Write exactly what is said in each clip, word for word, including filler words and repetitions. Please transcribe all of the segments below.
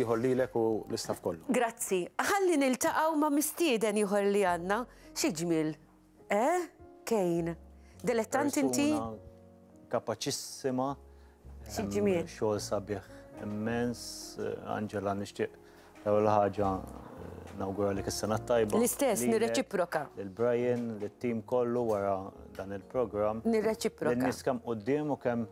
ieħor lilek u l-istaff kollu. Grazzi. Ħalli niltaqgħu ma' mistieden ieħor li għandna. Xi ġmiel? Eh? Kejn. Dilettant inti? Persuna kapaċissima. Xi ġmiel. Xogħol sabiħ immens. Angela, nixtieq l-ewwel ħaġa eh, nawguralek is-sena tajba. L-istess, Lilek, nirreċiproka. lil Brian, lit-tim kollu wara dan il-programm. Nirreċiproka. Lin-nies kemm quddiem u kemm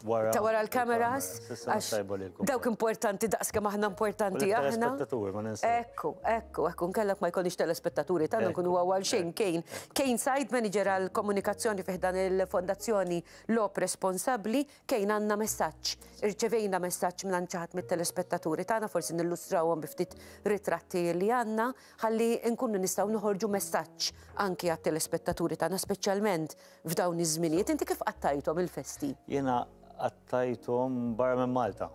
wara. Ta' wara l-kameras, Is-sena għax tajba lilkom. dawk importanti daqs kemm aħna importanti U aħna. l-telespettaturi, ma ninsew. Ekku, ekku, ekku, nkellek ma jkollniex telespettaturi, tagħna Ekku, nkunu għal xejn. Kejn. Kejn site manager għal komunikazzjoni fi ħdan il-Fondazzjoni Logħob Responsabbli. Kejn, għandna messaġġ. Irċevejna messaġġ minn xi ħadd mit-telespettaturi tagħna, forsi nillustrawhom bi ftit ritratti li għandna, ħalli nkunu nistgħu noħorġu messaġġ anki għat-telespettaturi tagħna, speċjalment f'dawn iż-żminijiet. Inti kif qattajthom il-festi? Jiena qattajthom barra minn Malta.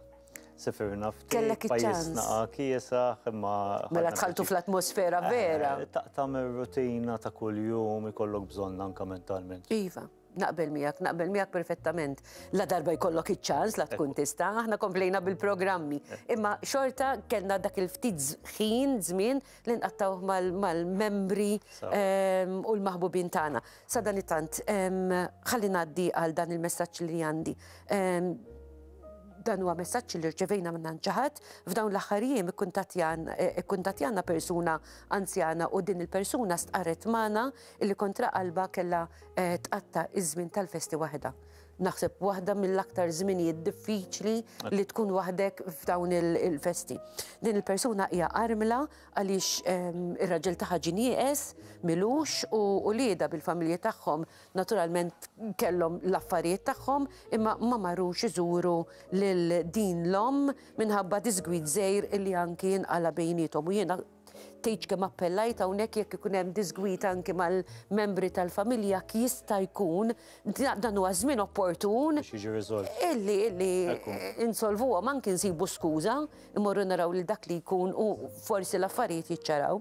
Sifirna ftit Kellek iċ-ċans. Pajjiżna kiesaħ, imma Mela ħadna dħaltu pjaċir. fl-atmosfera vera. Eh, Taqta' mir-rutina ta' kuljum, ikollok bżonn anka mentalment. Iva, naqbel miegħek, naqbel miegħek perfettament. La darba jkollok iċ-ċans, la tkun tista', aħna komplejna bil-programmi. Imma xorta kellna dak il-ftit ħin, żmien li nqattawh mal- mal-membri Sawa. em, u l-maħbubin tagħna. Sadanittant, em, ħalli ngħaddi għal dan il-messaġġ li għandi. Em, Dan huwa messaġġ li rċevejna minn xi ħadd. F'dawn l-aħħar jiem ikkuntattjana persuna anzjana u din il-persuna stqarret magħna illi kontra qalba kellha eh, tqatta' iż-żmien tal-festi waħda. Naħseb waħda mill-aktar żminijiet diffiċli li tkun waħdek f'dawn il- il-festi. Din il-persuna hija armla għaliex em, ir-raġel tagħha ġie nieqes m'ilux u uliedha bil-familji tagħhom naturalment kellhom l-affarijiet tagħhom, imma ma marrux iżuru lil din l-omm minħabba disgwid żgħir illi anki jinqala bejniethom, u jiena tgħidx kemm appellajt hawnhekk, jekk ikun hemm disgwid anki mal-membri tal-familja, jista' jkun dan huwa żmien opportun Biex jiġi riżolt. illi illi Ekku. insolvuhom, anki nsibu skuża, imorru naraw li dak li jkun u forsi l-affarijiet jiċċaraw.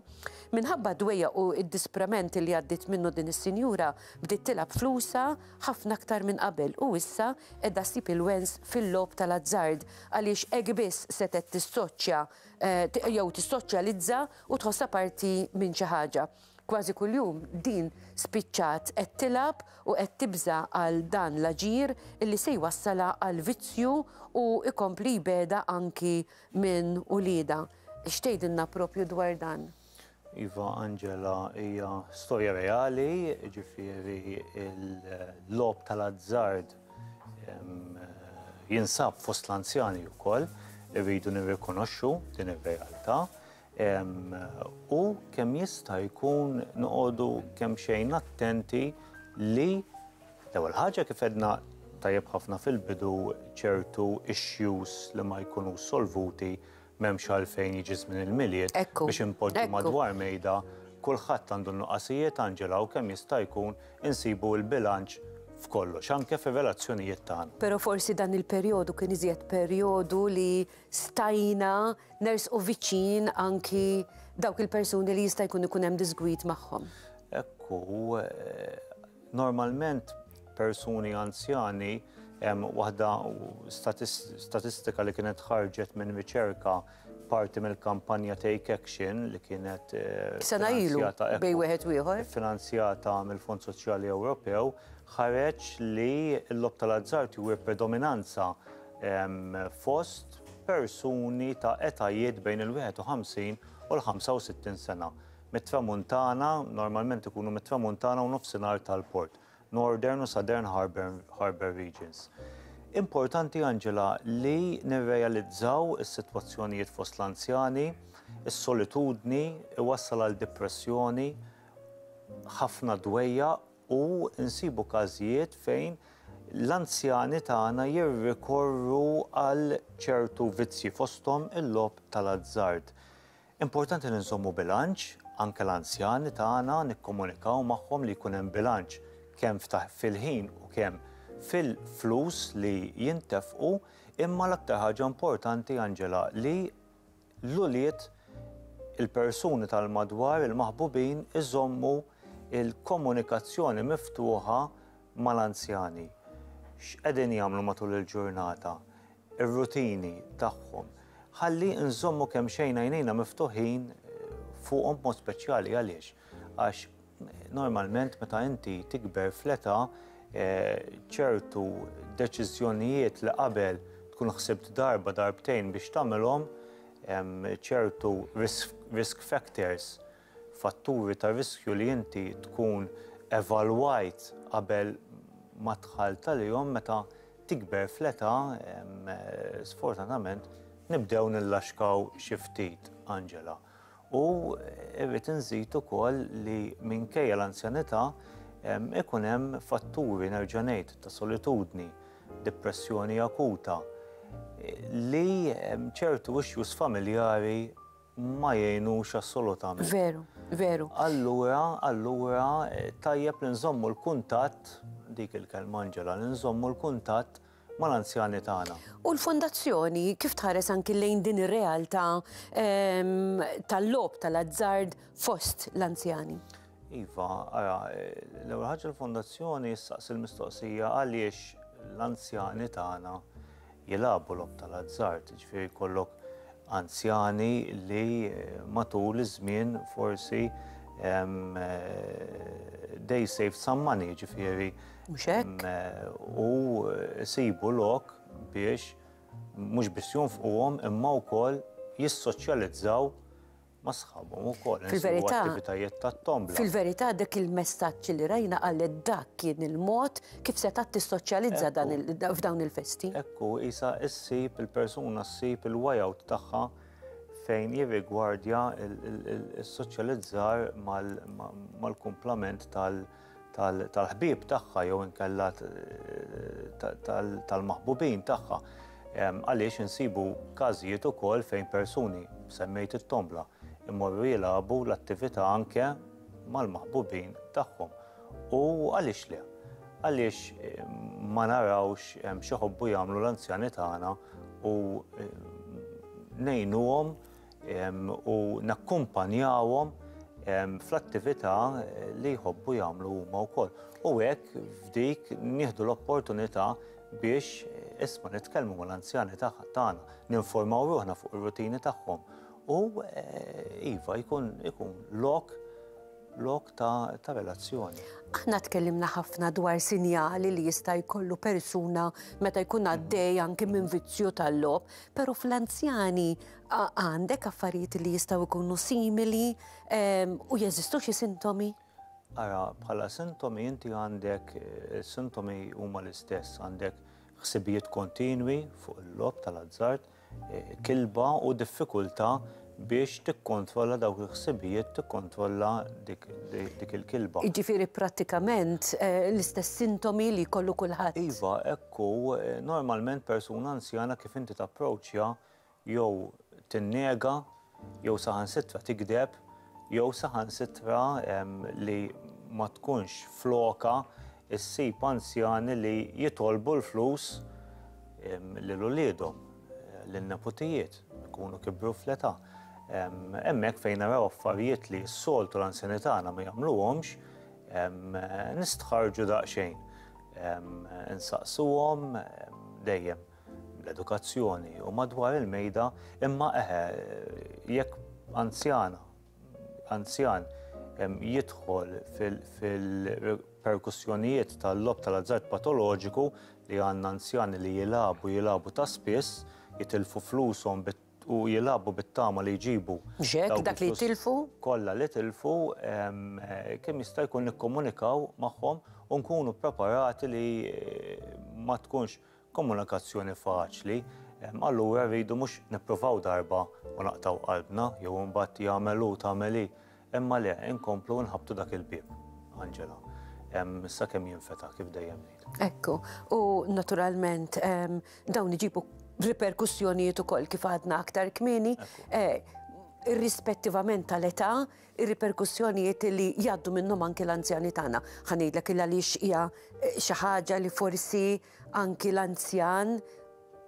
Minħabba dwejja u id-disprament li għaddit minnu din is-sinjura, bdiet tilgħab flusha ħafna aktar minn qabel u issa qiegħda ssib il-wens fil-logħob tal-azzard għaliex hekk biss setet tissoċja eh, t- jew tissoċjalizza u tħossha parti minn xi ħaġa. Kważi kuljum din spiċċat qed tilgħab u qed tibża għal dan l-aġir illi se jwassala għal vizzju u ikompli jbegħedha anki minn uliedha. X'tgħidilna propju dwar dan? Iva, Angela, hija storja reali, ġifieri il-logħob tal-azzard em, jinsab fost l-anzjani wkoll, irridu nirrikonoxxu din ir-realtà. Em, U kemm jista' jkun noqogħdu kemm xejn attenti li l-ewwel ħaġa, kif għedna tajjeb ħafna fil-bidu, ċertu issues li ma jkunu solvuti m'hemmx għalfejn jiġi żmien il-Milied Ekku, biex impoġġu ekku. madwar mejda. Kulħadd għandu nuqqasijiet, Angela, u kemm jista' jkun insibu l-bilanċ f'kollox, anke fir-relazzjonijiet tagħna. Pero forsi dan il-perjodu kien iżjed perjodu li stajna nersqu viċin anki dawk il-persuni li jista' jkun ikun hemm disgwid magħhom. Ekku, eh, normalment persuni anzjani, hemm waħda statis- statistika li kienet ħarġet minn riċerka parti mill-kampanja Take Action li kienet eh, Sena ilu, finanzjata, ekku, bejn wieħed u ieħor. Finanzjata mill-Fond Soċjali Ewropew, ħareġ li l-logħob tal-azzard juri predominanza em, fost persuni ta' etajiet bejn il-wieħed u ħamsin u l-ħamsa u sittin sena. Mit-tramuntana, normalment ikunu mit-tramuntana u nofsinhar tal-port, Northern u Southern Harbour, Harbour Regions. Importanti, Angela, li nirrealizzaw is-sitwazzjonijiet fost l-anzjani, is-solitudni iwassal għal depressjoni, ħafna dwejjaq, u nsibu każijiet fejn l-anzjani tagħna jirrikorru għal ċertu vizzji, fosthom il-logħob tal-azzard. Importanti li nżommu bilanċ, anke l-anzjani tagħna nikkomunikaw magħhom li jkun hemm bilanċ kemm ftaħ fil-ħin u kemm fil-flus li jintefqu, imma l-aktar ħaġa importanti, Angela, li l-ulied, il-persuni tal-madwar, il-maħbubin, iżommu il-komunikazzjoni miftuħa mal-anzjani. X'qegħdin jagħmlu matul il-ġurnata, ir-rutini tagħhom. Ħalli nżommu kemm xejn għajnejna miftuħin fuqhom b'mod speċjali. Għaliex? Għax normalment meta inti tikber fl-età, ċertu deċiżjonijiet li qabel tkun ħsibt darba darbtejn biex tagħmelhom, ċertu risk factors, fatturi ta' riskju li inti tkun evalwajt qabel ma dħalt għalihom, meta tikber fl-età, sfortunatament nibdew nillaxkaw xi ftit, Angela. U irrid inżid ukoll li minkejja l-anzjanità ikun hemm fatturi, nerġa' ngħid, ta' solitudni, depressjoni akuta, li ċertu issues familjari ma jgħinux assolutament. Veru, veru. Allura, allura tajjeb li nżommu l-kuntatt, dik il-kelma, Angela, li nżommu l-kuntatt mal-anzjani tagħna. U l-fondazzjoni kif tħares anki lejn din ir-realtà tal-logħob tal-azzard fost l-anzjani? Iva, ara, l-ewwel ħaġa l-fondazzjoni ssaqsi l-mistoqsija għaliex l-anzjani tagħna jilagħbu logħob tal-azzard, ġifieri jkollok anzjani li matul iż-żmien forsi they save some money, ġifieri Mhux hekk? U sibu lok biex mhux biss jonfquhom imma wkoll jissoċjalizzaw ma' sħabhom ukoll. Fil-verità, attivitajiet tat-tombla. Fil-verità dak il-messaġġ li rajna qalet dak kien il-mod kif setgħet tissoċjalizza dan il-, f'dawn il-festi. Ekku, isa issib il-persuna ssib il-way out tagħha fejn jirrigwardja il-soċjalizzar mal-kumplament tal-ħbieb tagħha jew inkella tal-maħbubin tagħha. Għaliex insibu każijiet ukoll fejn persuni, semmejt it-tombla, imorru jilagħbu l-attività anke mal-maħbubin tagħhom. U għaliex le? Għaliex ma narawx x'iħobbu jagħmlu l-anzjani tagħna u ngħinuhom u nakkumpanjawhom fl-attività li jħobbu jagħmlu huma wkoll. U hekk f'dik nieħdu l-opportunità biex isma' nitkellmu mal-anzjani tagħna, ninformaw ruħna fuq ir-rutini tagħhom. U iva jkun ikun lok lok ta', ta' relazzjoni. Aħna tkellimna ħafna dwar sinjali li jista' jkollu persuna meta jkun għaddej anke minn vizzju tal-logħob, però fl-anzjani għandek affarijiet li jistgħu jkunu simili u jeżistu xi sintomi? Ara, bħala sintomi inti għandek, sintomi huma l-istess, għandek ħsibijiet kontinwi fuq il-logħob tal-azzard, kilba u diffikultà biex tikkontrolla dawk il-ħsibijiet, tikkontrolla dik, dik il-kilba. Jiġifieri prattikament l-istess sintomi li jkollu kulħadd. Iva, ekku, normalment persuna anzjana kif inti tapproċċja jew tinnega, jew saħansitra tikdeb, jew saħansitra li ma tkunx floka issib anzjani li jitolbu l-flus lil uliedhom, lin-nepotijiet, ikunu kibru fl-età. Hemmhekk fejn naraw affarijiet li s-soltu l-anzjani tagħna ma jagħmluhomx, nistħarġu daqsxejn. Insaqsuhom dejjem l-edukazzjoni u madwar il-mejda, imma eħe, jekk anzjana, anzjan jidħol fil-perkussjonijiet tal-logħob tal-azzard patoloġiku li għandna anzjani li jilagħbu jilagħbu ta' spiss, jitilfu flushom u jilagħbu bit-tama li jġibu. Ġek, dawk dak li il-flus jitilfu? Kollha li tilfu, kemm jista' jkun nikkomunikaw magħhom u nkunu preparati li ma tkunx komunikazzjoni faċli. Allura rridu mhux nippruvaw darba u naqtaw qalbna jew imbagħad jagħmel hu tagħmel hi, imma le inkomplu nħabtu dak il-bieb, Angela. Sakemm jinfetaħ kif dejjem ngħid. Ekku, u naturalment dawn iġibu riperkussjonijiet ukoll kif għadna aktar kmieni, Ekku. irrispettivament tal-età, ir-riperkussjonijiet li jgħaddu minnhom anki l-anzjani tagħna. Ħa ngħidlek il għaliex hija xi ħaġa li forsi anki l-anzjan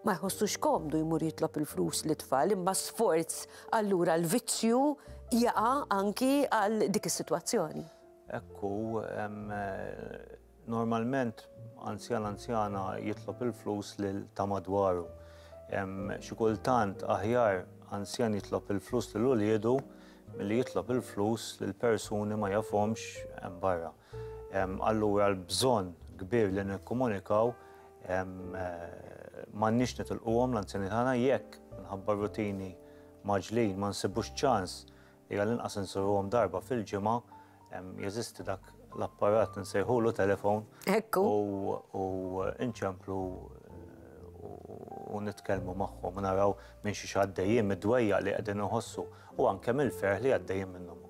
ma jħossux komdu jmur jitlob il-flus lit-tfal, imma sforz allura l-vizzju jaqa' anki għal dik is-sitwazzjoni. Ekku, normalment anzjan anzjana jitlob il-flus lil ta' madwaru. Xi kultant aħjar anzjan jitlob il-flus lil uliedu milli jitlob il-flus lil persuni ma jafhomx hemm barra. Allura l-bżonn kbir li nikkomunikaw, m'għandniex nitilquhom l-anzjani tagħna jekk minħabba rutini maġlin ma nsibux ċans li għall-inqas insuruhom darba fil-ġimgħa, jeżisti dak l-apparat nsejħulu telefon. Ekku. U nċemplu u nitkellmu magħhom u naraw minn xi għaddejjin, mid-dwejja li qegħdin iħossu u anke mill-ferħ li għaddejjin minnhom ukoll.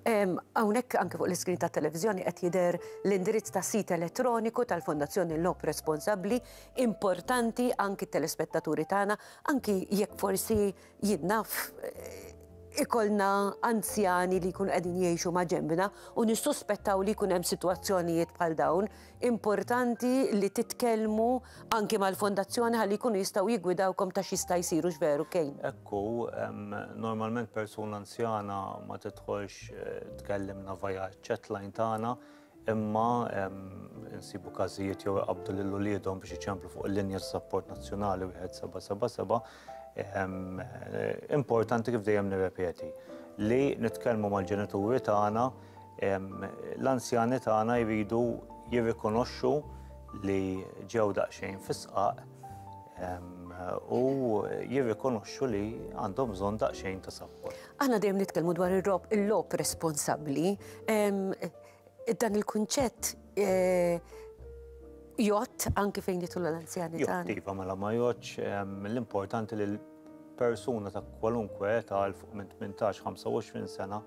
Hawnhekk anke fuq l-iskrin tat-televiżjoni qed jidher l-indirizz ta' sit elettroniku tal-Fondazzjoni Logħob Responsabbli, importanti anki t-telespettaturi tagħna, anki jekk forsi jien naf ikollna anzjani li jkunu qegħdin jgħixu ma' ġembna u nissuspettaw li jkun hemm sitwazzjonijiet bħal dawn, importanti li titkellmu anki mal-fondazzjoni ħalli jkunu jistgħu jiggwidawkom ta' x'jista' jsir, hux veru, Kane? Ekku, normalment persuna anzjana ma tidħolx tkellimna via chatline tagħna, imma insibu każijiet jew iqabdu lil uliedhom biex iċemplu fuq il-linja ta' sapport nazzjonali wieħed seba' seba' seba'. Importanti, kif dejjem nirrepeti, li nitkellmu mal-ġenituri tagħna, l-anzjani tagħna jridu jirrikonoxxu li ġew daqsxejn fisqaq u jirrikonoxxu li għandhom bżonn daqsxejn ta' sapport. Aħna dejjem nitkellmu dwar il-logħob responsabbli. Dan il-kunċett jgħodd anki fejn jidħlu l-anzjani tagħna. Jgħodd, iva, mela ma jgħoddx. L-importanti li l-persuna ta' kwalunkwe età 'l fuq minn tmintax ħamsa u għoxrin sena,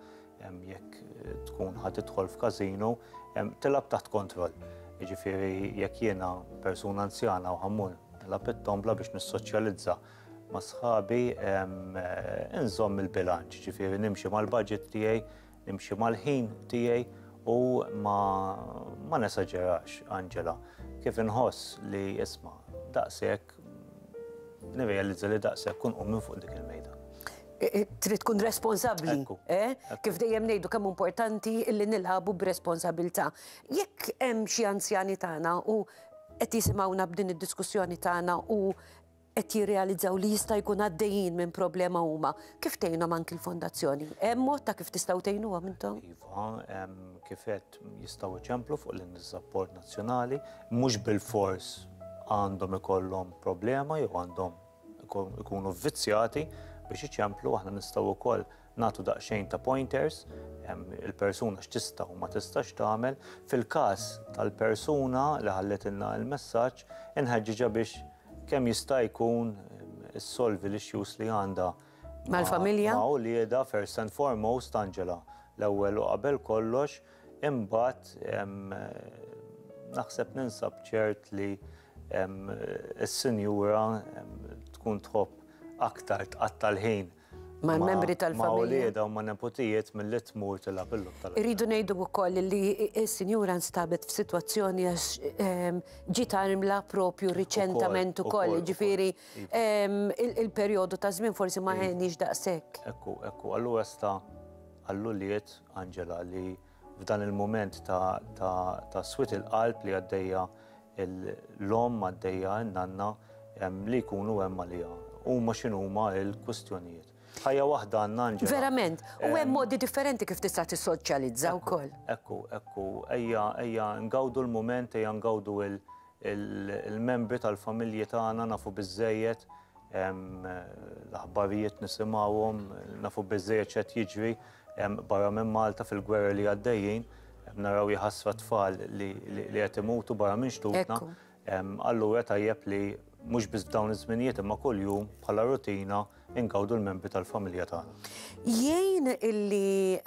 jekk tkun ħa tidħol f'kazino, tilgħab taħt kontroll. Jiġifieri jekk jiena persuna anzjana u ħa mmur nilgħab it-tombla biex nissoċjalizza ma' sħabi, inżomm il-bilanċ, ġifieri nimxi mal-budget tiegħi, nimxi mal-ħin tiegħi u ma, ma nesaġerax, Angela. Kif inħoss li isma' daqshekk, nirrealizza li daqshekk, kun minn fuq dik il-mejda. Trid tkun responsabbli, eh? Kif dejjem ngħidu kemm importanti illi nilagħbu b'responsabilità. Jekk hemm xi anzjani tagħna u qed jisimgħuna b'din id-diskussjoni tagħna u qed jirrealizzaw li jista' jkun għaddejjin minn problema huma, kif tgħinhom anki l-fondazzjoni? Hemm mod ta' kif tistgħu tgħinuhom intom? Iva, kif qed, jistgħu iċemplu fuq l-sapport nazzjonali, mhux bil-fors għandhom ikollhom problema jew għandhom ikunu vizzjati biex iċemplu. Aħna nistgħu wkoll nagħtu daqsxejn ta' pointers il-persuna x'tista' u ma tistax tagħmel. Fil-każ tal-persuna li ħalletilna il-messaġġ, inħeġġiġha biex kemm jista' jkun issolvi l-issues li għandha mal-familja? Ma' uliedha first and foremost, Angela. L-ewwel u qabel kollox, imbagħad naħseb ninsab ċert li is-sinjura tkun tħobb aktar tqatta' l-ħin mal-membri tal-familja. Ma' uliedha u ma' nepotijiet milli tmur tilgħab il tal Irridu ngħidu wkoll li s-sinjura nstabet f'sitwazzjoni għax ġiet armla propju riċentament ukoll, ġifieri il-perjodu ta' żmien forsi ma għenix daqshekk. Ekku, ekku, allura sta għall-ulied, Angela, li f'dan il-moment ta', ta, ta' swied il-qalb li għaddejja l-omm, għaddejja n-nanna, li jkunu hemm għaliha. Huma x'inhuma l-kwistjonijiet. Ħajja waħda għandna, Angela. Verament, u hemm modi differenti kif tista' tissoċjalizza wkoll. Ekku, ekku, ejja, ejja ngawdu l-moment, ejja ngawdu il-membri tal-familji tagħna. Nafu biżejjed, l-aħbarijiet nisimgħuhom, nafu biżejjed x'qed jiġri barra minn Malta fil-gwerra li għaddejjin, naraw jħassra tfal li qed imutu barra minn xtutna. Allura tajjeb li mhux biss f'dawn iż-żminijiet imma kuljum bħala rutina ingawdu l-membri tal-familja tagħna. Jgħin illi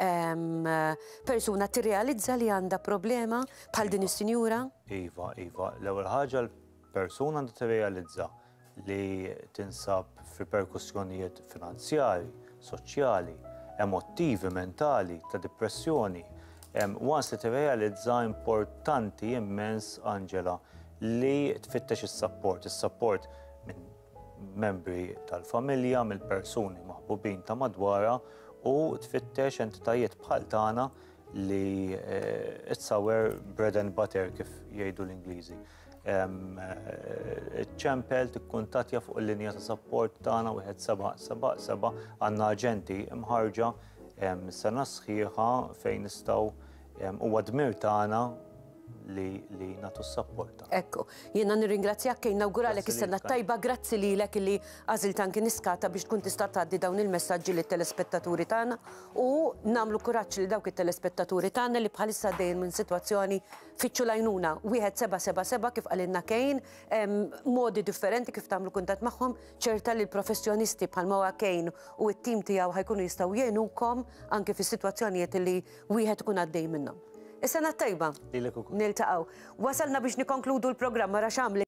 persuna tirrealizza li għandha problema bħal din is-sinjura? Iva, iva. L-ewwel ħaġa, l-persuna għandha tirrealizza li tinsab fi riperkussjonijiet finanzjari, soċjali, emotivi, mentali, ta' depressjoni. Once li tirrealizza, importanti immens, Angela, li tfittex is-support, is-support minn membri tal-familja, mill-persuni maħbubin ta' madwarha u tfittex entitajiet bħal tagħna li eh, it's our bread and butter, kif jgħidu l-Ingliżi. Ċempel, tikkuntattja fuq il-linja ta' support tagħna wieħed seba' seba' seba. Għandna aġenti imħarrġa sena sħiħa fejn nistgħu, huwa dmir tagħna li, li nagħtu s-support. Ekku, jiena nirringrazzjak, Kejn, nawguralek is-sena tajba, grazzi lilek li għażilt anki Niskata biex tkun tista' tgħaddi dawn il-messaġġi lit-telespettaturi tagħna u nagħmlu kuraġġ li dawk it-telespettaturi tagħna li bħalissa għaddejjin minn sitwazzjoni, fittxu l-għajnuna wieħed seba' seba' seba kif qalilna Kejn, modi differenti kif tagħmlu kuntatt magħhom, ċerta li l-professjonisti bħalma huwa Kejn u t-tim tiegħu ħa jkunu jistgħu jgħinukom anke fis-sitwazzjonijiet li wieħed ikun għaddej minnhom. Is-sena tajba. Lilek ukoll. Niltaqgħu. Wasalna biex nikonkludu l-programm, ra x'għamli.